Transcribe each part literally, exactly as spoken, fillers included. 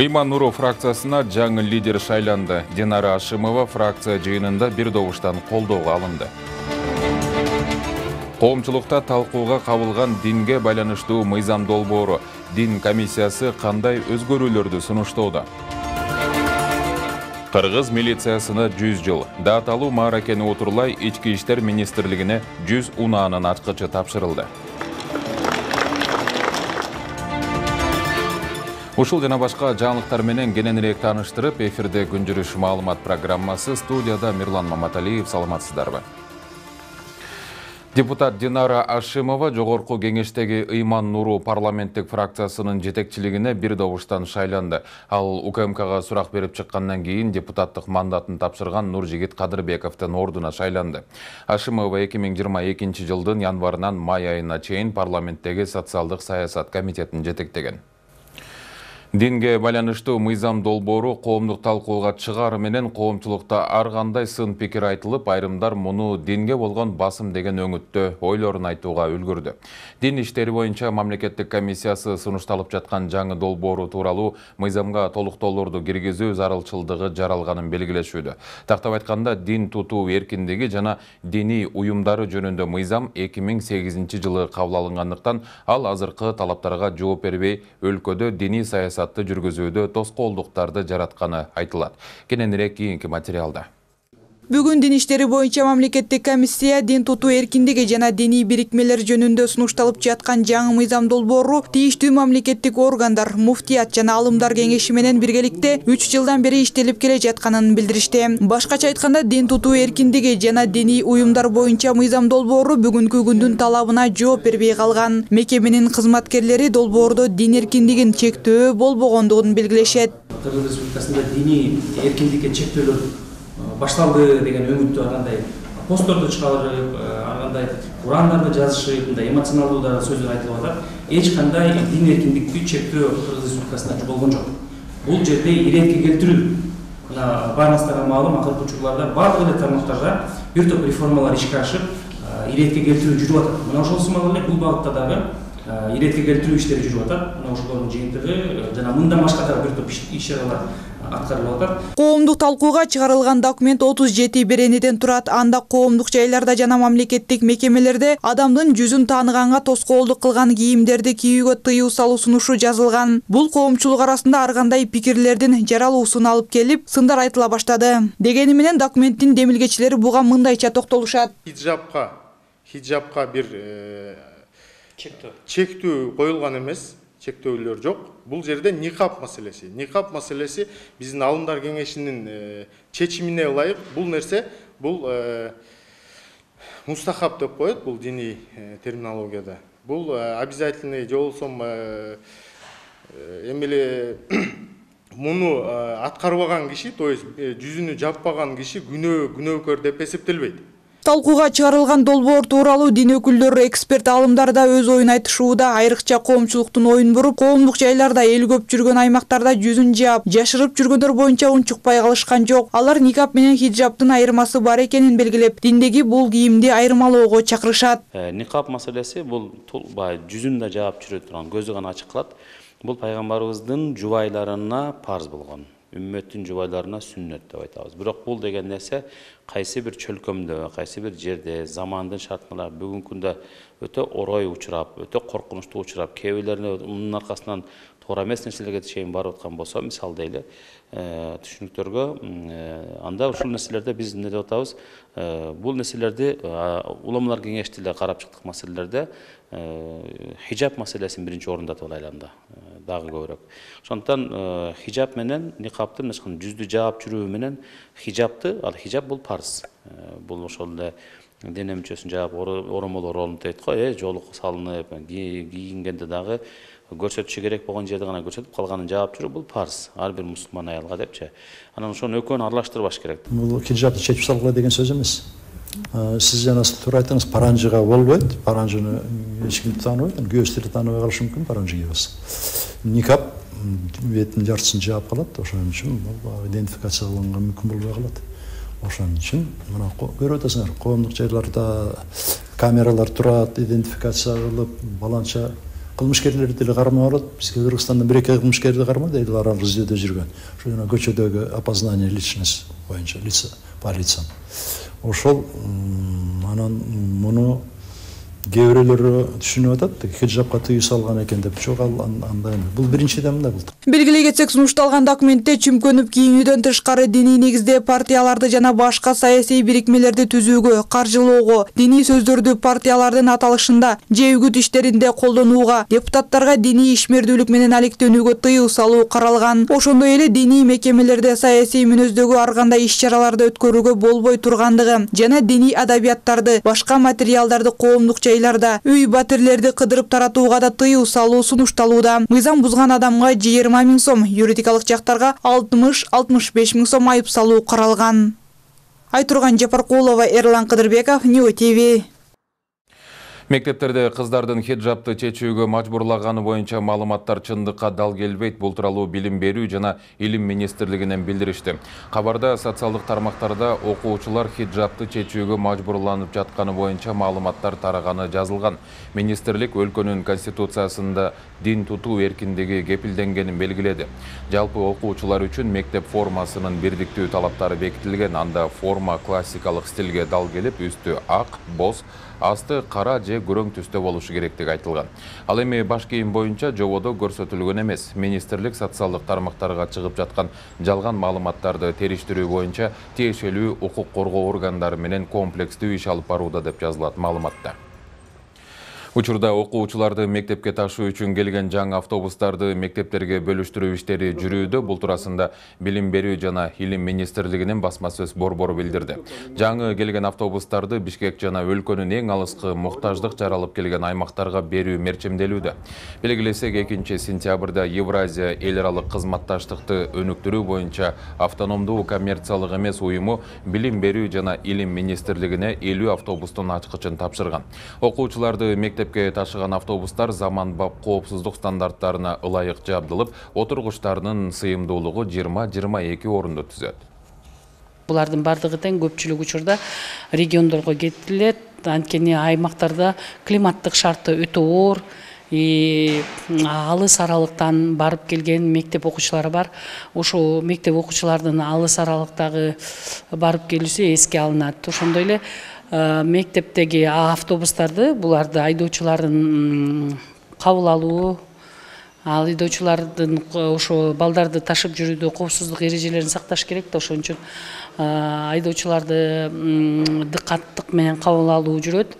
Ыйман Нуру фракциясына жаңы лидер шайланды. Динара Ашимова фракция жыйынында бир добуштан колдоого алынды. Коомчулукта талкууга кабылган динге байланыштуу мыйзам долбоору. Дин комиссиясы кандай өзгөрүүлөрдү сунуштоодо? Кыргыз милициясына жүз жыл. Даталуу мааракени отурлай Ички иштер министрлигине жүз унаанын ачкычы тапшырылды. Ушул жана башка жаңылыктар менен кененирээк тааныштырып, эфирде күн жүрүш маалымат программасы, студияда Мирлан Маматалиев. Саламатсыздарбы? Депутат Динара Ашимова жогорку кеңештеги Ыйман Нуру парламенттик фракциясынын жетекчилигине бир добуштан шайланды. Ал УКМКга сурак берип чыккандан кийин депутаттык мандатын тапшырган Нуржигит Кадырбековдун ордуна шайланды. Ашимова эки миң жыйырма экинчи жылдын январынан май айына чейин парламенттеги социалдык саясат комитетин жетектеген. Динге байланыштуу мыйзам долбоору коомдук талкууга чыгаары менен коомчулукта ар кандай сын пикир айтылып, айрымдар муну динге болгон басым деген өңүттө ойлорун айтууга үлгүрдү. Дин иштери боюнча мамлекеттик комиссиясы сунушталып жаткан жаңы долбоору тууралуу мыйзамга толуктоолорду киргизүү зарылчылдыгы жаралганын белгилешүүдө. Тактап айтканда, дин тутуу эркиндиги жана диний уюмдары жөнүндө мыйзам эки миң сегизинчи жылы кабыл алынгандыктан, ал азыркы талаптарга жооп бербей, өлкөдө диний саясат жүргүзүүдө тоскоолдуктарды жаратканы айтылат. Кененирээк кийинки материалда. Бүгүн дин иштери боюнча мамлекеттик комиссия дин тутуу эркиндиги жана диний бирикмелер жөнүндө сунушталып жаткан жаңы мыйзам долбоору тийиштүү мамлекеттик органдар, муфтият жана алымдар кеңеши менен биргеликте үч жылдан бери иштелип келе жатканын билдиришти. Башкача айтканда, дин тутуу эркиндиги жана диний уюмдар боюнча мыйзам долбоору бүгүнкү күндүн талабына жооп бербей калган. Мекеменин кызматкерлери долбоордо дин эркиндигин чектөө болбогондугун белгилешет. Кыргыз Республикасында диний эркиндикке чектөөлөр башталды деген өңүттү ар кандай постторду чыгарып, ар кандай урандарды жазышып, мындай эмоционалдуу да сөздөр айтылып атат. Эч кандай дин эркиндикти чектөө Кыргыз Республикасында болгон жок. Бул жерде иретке келтирүү. Мына баарыңыздарга маалым, акыркы учурларда бардык эле тармактарда бир топ реформалар ишке ашып, иретке келтирүү жүрүп атат. Мына ошол сымал эле бул багытта дагы иретке келтирүү иштери жүрүп атат. Мына ошолордун жыйынтыгы жана мындан башка дагы бир топ иш-чаралар аткарылып атат. Коомдук талкууга чыгарылган документ отуз жети беренеден турат. Анда коомдук жайларда жана мамлекеттик мекемелерде адамдын жүзүн тааныганга тоскоолдук кылган кийимдерди кийүүгө тыюу салуу сунушу жазылган. Бул коомчулук арасында ар кандай пикирлердин жаралуусун алып келип, сындар айтыла баштады. Дегени менен документтин демилгечилери буга мындайча токтолушат. Хиджабка, хиджабка бир чектөө коюлган эмес. Чектөөлөр жок. Бул жерде никап маселеси. Никап маселеси биздин алымдар кеңешинин чечимине ылайык бул нерсе бул мустахаб деп коет, бул диний терминологияда. Бул обязательный же болсом эмеле муну аткарбаган киши, то есть жүзүнү жаппаган киши күнөө күнөөкөр деп эсептелбейт. Талкууга чыгарылган долбоор тууралуу дин өкүлдөрү, эксперт алымдар да өз оюн айтышууда. Айрыкча коомчулуктун оюн буруп, коомдук жайларда эл көп жүргөн аймактарда жүзүн жаап, жашырып жүргөндөр боюнча унчукпай калышкан жок. Алар никап менен хиджабтын айырмасы бар экенин белгилеп, диндеги бул кийимди айырмалоого чакырышат. Никап маселеси бул жүзүн да жаап жүрө турган, көзү гана ачык калат. Бул пайгамбарыбыздын жубайларына парз болгон. Үммөттүн жубайларына сүннөт деп айтабыз. Бирок бул деген нерсе кайсы бир чөлкөмдө, кайсы бир жерде, замандын шартында бүгүнкү күндө өтө орой учурап, өтө коркунучтуу учурап, кээ бирлерine мунун аркасынан туура эмес нерселерге чейин барып аткан болсо, мисалы дейли, түшүнүктөргө, анда ушул нерселерде биз эмне деп атабыз? Бул нерселерди уламалар кеңешти эле карап чыктык маселелерде хиджаб маселесин биринчи орунда деп айланды, дагы көбүрөөк. Ошондуктан хиджаб менен никаптын мыскын жүздү жаап жүрүү менен хиджабты, ал хиджаб бул парз. Бул ошол эле дене мүчөсүн жаап оромолор орнуп дейт го, э, жолук салынып, кийингенде дагы көрсөтүшү керек болгон жерде гана көрсөтүп, калганын жаап жүрүү бул парз. Ар бир мусулман аялга депчи. Анан ошону экөөнү аралаштырбаш керек. Бул хиджабты чечип салгыла деген сөз эмес. Сиз жана туура айттыңыз, паранжыга болбойт. Паранжыны эч ким тааныбайт, күйөөчтөр тааныбай калышы мүмкүн паранжы кийбес. Никап беттин жартысын жаап калат, ошон үчүн бул идентификация кылганга мүмкүн болбой калат. Ошон үчүн мына көрүп атасыңар, коомдук жайларда камералар турат, идентификация кылып, баланча кылмышкерлерди деле кармап алат. Бизге Кыргызстанда бир-эки кылмышкерди кармады, эле аралык издөөдө жүргөн. Ошо жана көчөдөгү опознание личность боюнча, лица по лицам. Ошол анан муну кээ бирөөлөрү түшүнүп атат, хиджабка тыюу салган экен деп. Жок, ал андай эмес. Бул биринчиден мындай болду. Белгилей кетсек, сунушталган документте чүмкөнүп кийинүүдөн тышкары диний негизде партияларды жана башка саясий бирикмелерди түзүүгө, каржылоого, диний сөздөрдү партиялардын аталышында же үгүт иштеринде колдонууга, депутаттарга диний ишмердүүлүк менен алектенүүгө тыюу салуу каралган. Ошондой эле диний мекемелерде саясий мүнөздөгү ар кандай иш-чараларды өткөрүүгө болбой тургандыгы жана диний адабияттарды, башка материалдарды коомдук жайларда, үй батирлерди кыдырып таратууга да тыюу салуу сунушталууда. Мыйзам бузган адамга жыйырма миң сом, юридикалык жактарга алтымыш — алтымыш беш миң сом айып салуу каралган. Айтурган Жапаркулова, Эрлан Кыдырбеков, Ньюс ТВ. Мектептерде кыздардын хиджабты чечүүгө мажбурлаганы боюнча маалыматтар чындыкка дал келбейт. Бул тууралуу Билим берүү жана Илим министрлигинен билдиришти. Кабарда социалдык тармактарда окуучулар хиджабты чечүүгө мажбурланып жатканы боюнча маалыматтар тараганы жазылган. Министрлик өлкөнүн конституциясында дин тутуу эркиндиги кепилденгенин белгиледи. Жалпы окуучулар үчүн мектеп формасынын бирдиктүү талаптары бекитилген. Анда форма классикалык стилге дал келип, үстү ак, боз, асты кара же көрөң түстө болушу керектиги айтылган. Ал эми баш кийим боюнча жободо көрсөтүлгөн эмес. Министрлик социалдык тармактарга чыгып жаткан жалган маалыматтарды териштирүү боюнча тиешелүү укук коргоо органдары менен комплекстүү иш алып барууда деп жазылат маалыматта. Учурда окуучуларды мектепке ташуу үчүн келген жаңы автобустарды мектептерге бөлүштүрүү иштери жүрүүдө. Бул туурасында Билим берүү жана Илим министрлигинин басма сөз борбору билдирди. Жаңы келген автобустарды Бишкек жана өлкөнүн эң алыскы муктаждык жаралып келген аймактарга берүү мерчемделүүдө. Белгилесек, экинчи сентябрда Евразия эл аралык кызматташтыкты өнүктүрүү боюнча автономдуу коммерциялык эмес уюму Билим берүү жана Илим министрлигине элүү автобустун ачкычын тапшырган. Окуучуларды мектеп Мектепке ташыган автобустар заманбап коопсуздук стандарттарына ылайык жабдылып, отургучтарынын сыйымдуулугу жыйырма — жыйырма эки орунду түзөт. Булардын бардыгы тең көпчүлүк учурда региондорго кетилет. Анткени аймактарда климаттык шарты өтө оор, алыс аралыктан барып келген мектеп окуучулары бар. Ошо мектеп окуучулардын алыс аралыктагы барып келүүсү эске алынат. Ошондой эле мектептеги автобустарды, буларды айдоочулардын кабыл алуу, ал айдоочулардын ошо балдарды ташып жүрүүдө коопсуздук эрежелерин сакташ керек да, ошон үчүн айдоочуларды дыккаттык менен кабыл алуу жүрөт.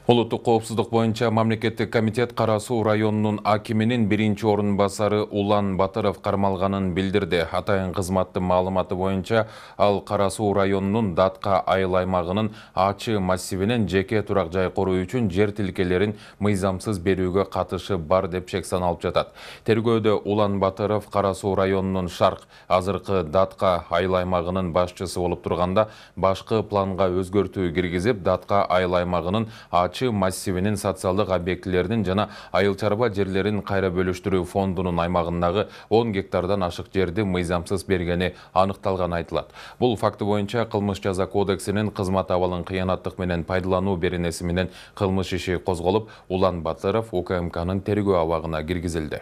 Улуттук коопсуздук боюнча мамлекеттик комитет Кара Суу районунун акиминин биринчи орун басары Улан Батыров кармалганын билдирди. Атайын кызматтын маалыматы боюнча ал Кара Суу районунун Датка айыл аймагынын Ачы массивинен жеке турак жай коруу үчүн жер тилкелерин мыйзамсыз берүүгө катышы бар деп шек саналып жатат. Тергөөдө Улан Батыров Кара Суу районунун Шарк, азыркы Датка айыл аймагынын башчысы болуп турганда башкы планга өзгөртүү киргизип, Датка айыл аймагынын Ачы массивинин социалдык объектилеринин жана айыл чарба жерлерин кайра бөлүштүрүү фондунун аймагындагы он гектардан ашык жерди мыйзамсыз бергени аныкталган айтылат. Бул факты боюнча кылмыш жаза кодексинин кызмат абалын кыянаттык менен пайдалануу беренеси менен кылмыш иши козголуп, Улан Батыров У К М Кнын тергөө абагына киргизилди.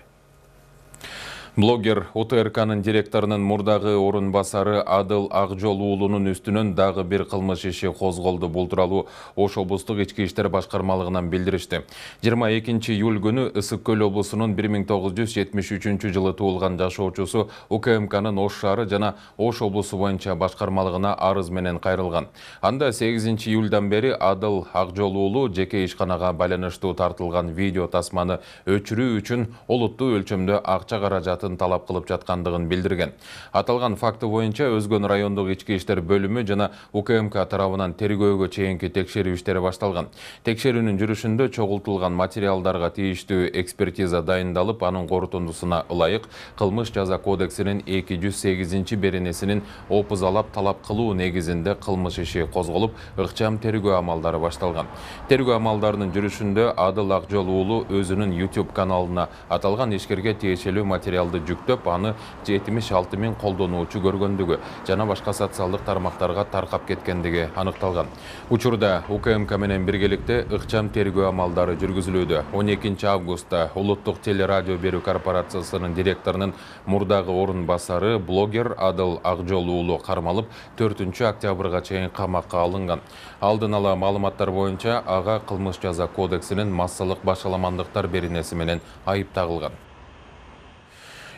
Блогер О Т Р Кнын директорунун мурдагы орун басары Адыл Акжол уулунун үстүнөн дагы бир кылмыш иши козголду. Бул тууралуу Ош облустук ички иштер башкармалыгынан билдиришти. жыйырма экинчи июль күнү Ысык Көл облусунун бир миң тогуз жүз жетимиш үчүнчү жылы туулган жашоочусу У К М Кнын Ош шаары жана Ош облусу боюнча башкармалыгына арыз менен кайрылган. Анда сегизинчи июлдан бери Адыл Акжол уулу жеке ишканага байланыштуу тартылган видео тасманы өчүрүү үчүн олуттуу өлчөмдө акча каражаты мандатын талап кылып жаткандыгын билдирген. Аталган факты боюнча Өзгөн райондук ички иштер бөлүмү жана УКМК тарабынан тергөөгө чейинки текшерүү иштери башталган. Текшерүүнүн жүрүшүндө чогултулган материалдарга тийиштүү экспертиза дайындалып, анын корутундусуна ылайык кылмыш жаза кодексинин эки жүз сегизинчи беренесинин опузалап талап кылуу негизинде кылмыш иши козголуп, ыкчам тергөө амалдары башталган. Тергөө амалдарынын жүрүшүндө Адыл Акжол уулу өзүнүн YouTube каналына аталган ишкерге тиешелүү материалды жүктөп, аны жетимиш алты миң колдонуучу көргөндүгү жана башка социалдык тармактарга таркап кеткендиги аныкталган. Учурда УКМК менен биргеликте ыкчам тергөө амалдары жүргүзүлүүдө. он экинчи августта Улуттук телерадио берүү корпорациясынын директорунун мурдагы орун басары блогер Адыл Акжол уулу кармалып, төртүнчү октябрга чейин камакка алынган. Алдын ала маалыматтар боюнча ага кылмыш жаза кодексинин массалык башаламандыктар беренеси менен айып тагылган.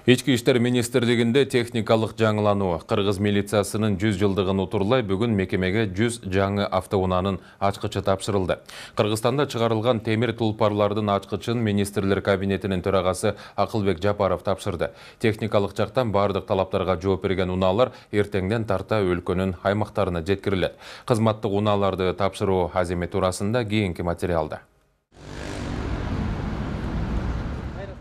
Ички иштер министрлигинде техникалык жаңылануу. Кыргыз милициясынын жүз жылдыгын утурлай бүгүн мекемеге жүз жаңы автоунаанын ачкычы тапшырылды. Кыргызстанда чыгарылган темир тулпарлардын ачкычын министрлер кабинетинин төрагасы Акылбек Жапаров тапшырды. Техникалык жактан бардык талаптарга жооп берген унаалар эртеңден тарта өлкөнүн аймактарына жеткирилет. Кызматтык унааларды тапшыруу аземи туурасында кийинки материалда.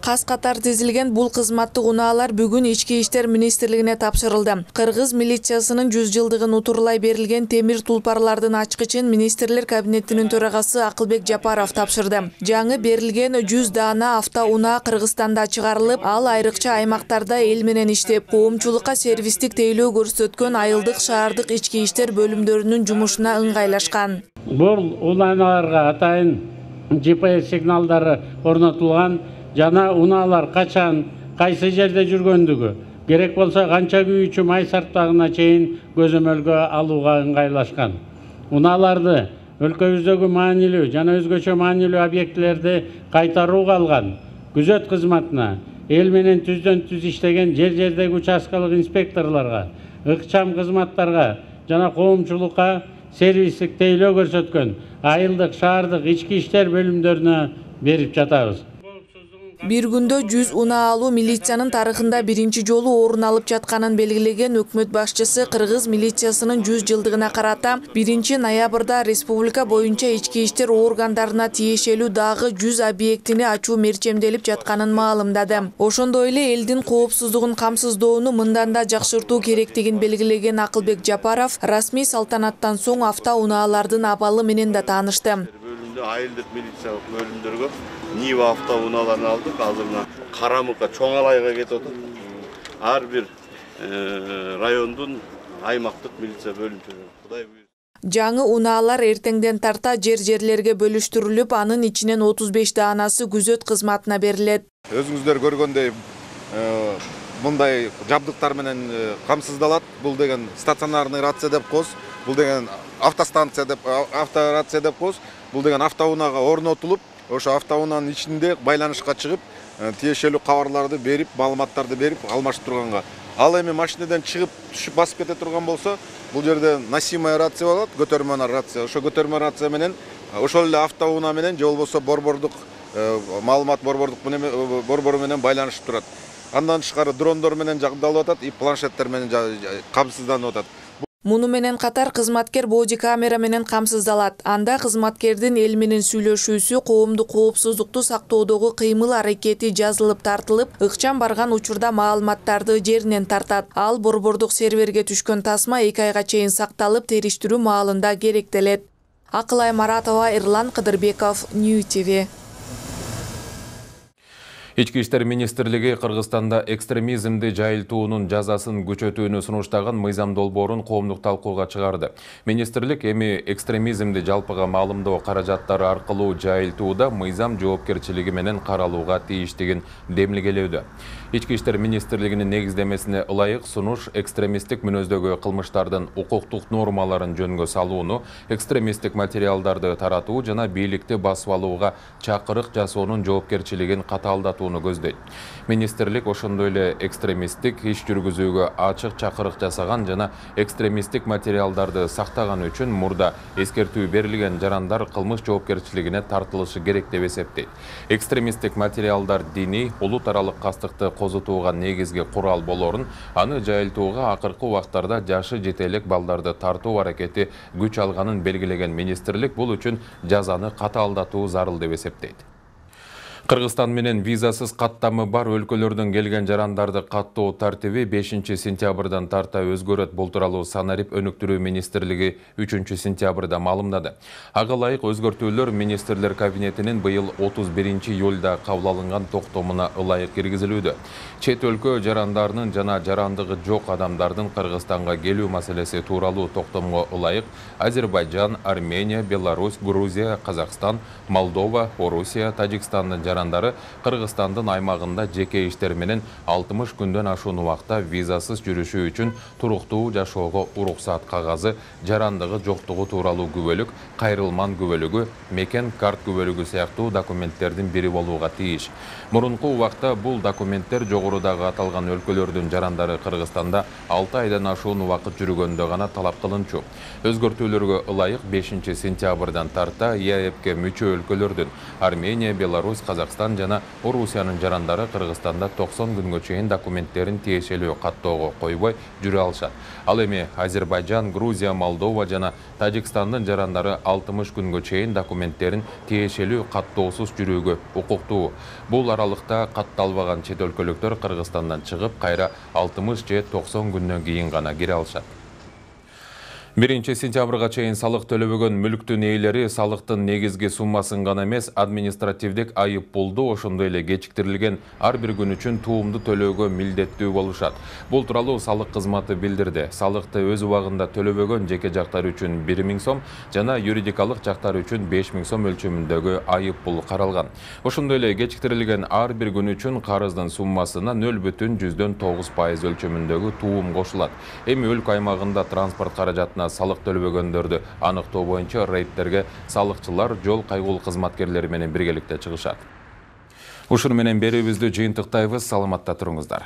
Кас катар тизилген бул кызматтык унаалар бүгүн Ички иштер министрлигине тапшырылды. Кыргыз милициясынын жүз жылдыгын утурлай берилген темир тулпарлардын ачкычын министрлер кабинетинин төрагасы Акылбек Жапаров тапшырды. Жаңы берилген жүз даана автоунаа Кыргызстанда чыгарылып, ал айрыкча аймактарда эл менен иштеп, коомчулукка сервистик тейлөө көрсөткөн айылдык шаардык ички иштер бөлүмдөрүнүн жумушуна ыңгайлашкан. Бул унааларга атайын Джи Пи Эс сигналдары орнотулган. Жана унаалар качан, кайсы жерде жүргөндүгү, керек болсо канча күйүүчү май сарптагына чейин көзөмөлгө алууга ыңгайлашкан. Унааларды өлкөбүздөгү маанилүү жана өзгөчө маанилүү объектилерди кайтарууга алган күзөт кызматына, эл менен түздөн түз иштеген жер жердеги участкалык инспекторлорго, ыкчам кызматтарга жана коомчулукка сервистик тейлөө көрсөткөн айылдык, шаардык ички иштер бөлүмдөрүнө берип жатабыз. Бир күндө жүз унаа алуу милициянын тарыхында биринчи жолу орун алып жатканын белгилеген өкмөт башчысы Кыргыз милициясынын жүз жылдыгына карата биринчи ноябрда республика боюнча ички иштер органдарына тиешелүү дагы жүз объектини ачуу мерчемделип жатканын маалымдады. Ошондой эле элдин коопсуздугун камсыздоону мындан да жакшыртуу керектигин белгилеген Акылбек Жапаров расмий салтанаттан соң автоунаалардын абалы менен да таанышты. Айылдык милициялык бөлүмдөргө Нива автоунааларын алдык. Азыр мына Карамыкка, Чоң Алайга кетип атат. Ар бир райондун аймактык милиция бөлүмчөлөрү. Кудай буйруса. Жаңы унаалар эртеңден тарта жер-жерлерге бөлүштүрүлүп, анын ичинен отуз беш даанасы күзөт кызматына берилет. Өзүңүздөр көргөндөй мындай жабдыктар менен камсыздалат. Бул деген стационарный рация деп коебуз. Бул деген автостанция деп, авторация деп коебуз. Бул деген автоунаага орнотулуп, ошо автоунаанын ичинде байланышка чыгып, тиешелүү кабарларды берип, маалыматтарды берип алмашып турганга. Ал эми машинеден чыгып, түшүп басып кете турган болсо, бул жерде носимая рация болот, көтөрмө рация. Ошо көтөрмө рация менен, ошол эле автоунаа менен же болбосо борбордук маалымат борбордук борбору менен байланышып турат. Андан тышкары дрондор менен жабдылып атат, и планшеттер менен камсызданып атат. Муну менен катар кызматкер боди камера менен камсыздалат. Анда кызматкердин эл менен сүйлөшүүсү, коомдук коопсуздукту сактоодогу кыймыл аракети жазылып тартылып, ыкчам барган учурда маалыматтарды жеринен тартат. Ал борбордук серверге түшкөн тасма эки айга чейин сакталып, териштирүү маалында керектелет. Акылай Маратова, Эрлан Кыдырбеков, Нью Ти Ви. Ички иштер министрлиги Кыргызстанда экстремизмди жайылтуунун жазасын күчөтүүнү сунуштаган мыйзам долбоорун коомдук талкууга чыгарды. Министрлик эми экстремизмди жалпыга маалымдоо каражаттары аркылуу жайылтууда мыйзам жоопкерчилиги менен каралууга тийиштигин демилгелөөдө. Ички иштер министрлигинин негиздемесине ылайык сунуш экстремисттик мүнөздөгү кылмыштардын укуктук нормаларын жөнгө салууну, экстремисттик материалдарды таратуу жана бийликти басып алууга чакырык жасоонун жоопкерчилигин катаалдатууну көздөйт. Министрлик ошондой эле экстремисттик иш жүргүзүүгө ачык чакырык жасаган жана экстремисттик материалдарды сактаган үчүн мурда эскертүү берилген жарандар кылмыш жоопкерчилигине тартылышы керек деп эсептейт. Экстремисттик материалдар диний, улут аралык кастыкты козутууга негизги курал болорун, аны жайылтууга акыркы убактарда жашы жете элек балдарды тартуу аракети күч алганын белгилеген министрлик бул үчүн жазаны катаалдатуу зарыл деп эсептейт. Кыргызстан менен визасыз каттамы бар өлкөлөрдөн келген жарандарды каттоо тартиби бешинчи сентябрдан тарта өзгөрөт. Бул тууралуу Санарип өнүктүрүү министрлиги үчүнчү сентябрда маалымдады. Ага ылайык өзгөртүүлөр министрлер кабинетинин быйыл отуз биринчи июлда кабыл алынган токтомуна ылайык киргизилүүдө. Чет өлкө жарандарынын жана жарандыгы жок адамдардын Кыргызстанга келүү маселеси тууралуу токтомго ылайык Азербайжан, Армения, Беларусь, Грузия, Казакстан, Молдова, Орусия, Тажикстандын жарандары Кыргызстандын аймагында жеке иштер менен алтымыш күндөн ашуун убакта визасыз жүрүшү үчүн туруктуу жашоого уруксат кагазы, жарандыгы жоктугу тууралуу күбөлүк, кайрылман күбөлүгү, мекен карт күбөлүгү сыяктуу документтердин бири болууга тийиш. Мурунку убакта бул документтер жогорудагы аталган өлкөлөрдүн жарандары Кыргызстанда алты айдан ашуун убакыт жүргөндө гана талап кылынчу. Өзгөртүүлөргө ылайык бешинчи сентябрдан тарта ЕАЭПке мүчө өлкөлөрдүн Армения, Беларусь, Казакстан жана Орусиянын жарандары Кыргызстанда токсон күнгө чейин документтерин тиешелүү каттоого койбой жүрө алышат. Ал эми Азербайжан, Грузия, Молдова жана Тажикстандын жарандары алтымыш күнгө чейин документтерин тиешелүү каттоосуз жүрүүгө укуктуу. Бул аралыкта катталбаган чет өлкөлүктөр Кыргызстандан чыгып, кайра алтымыш же токсон күндөн кийин гана кире алышат. биринчи сентябрга чейин салык төлөбөгөн мүлктүн ээлери салыктын негизги суммасын гана эмес, административдик айып пулду, ошондой эле кечиктирилген ар бир күн үчүн туумду төлөөгө милдеттүү болушат. Бул тууралуу салык кызматы билдирди. Салыкты өз убагында төлөбөгөн жеке жактар үчүн бир миң сом жана юридикалык жактар үчүн беш миң сом өлчөмүндөгү айып пул каралган. Ошондой эле кечиктирилген ар бир күн үчүн карыздын суммасына нөл бүтүн жүздөн тогуз пайыз өлчөмүндөгү туум кошулат. Эми өлкө аймагында транспорт каражатына салык төлөбөгөндөрдү аныктоо боюнча рейдтерге салыкчылар, жол кайгул кызматкерлери менен биргеликте чыгышат. Ушуну менен берүүбүздү жыйынтыктайбыз. Саламатта туруңуздар.